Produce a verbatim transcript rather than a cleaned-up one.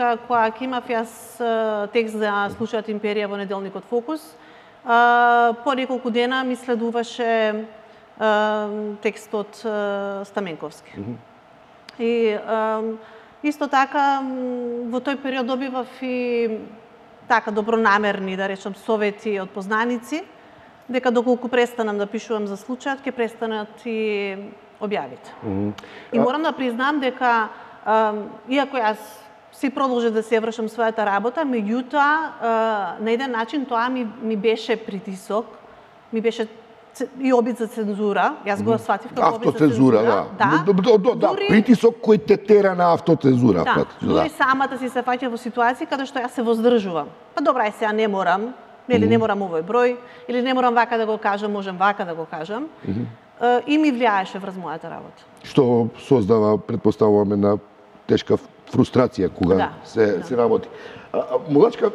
Кога ќе имав јас текст за случајот Империја во неделникот Фокус, по неколку дена ми следуваше текстот Стаменковски. Mm -hmm. И исто така во тој период добивав и така добронамерни, да речам, совети од познаници, дека доколку престанам да пишувам за случајот, ќе престанат и објавите. Mm -hmm. И морам да признам дека, иако јас си продолжи да се вршам својата работа, меѓутоа, на еден начин тоа ми, ми беше притисок, ми беше и обид за цензура. Јас го сватив како обид за цензура. Да. Да. Да, да, да. Дури... притисок кој те тера на автоцензура. Да. Дури самата си се фаќа во ситуација каде што јас се воздржувам. Па добра, сега не морам, или не морам овој број, или не морам вака да го кажам, можам вака да го кажам. Mm -hmm. И ми влијаеше врз мојата работа. Што создава, предпоставуваме, на тешка фрустрација кога да, се, да. се работи. А, Мулачка,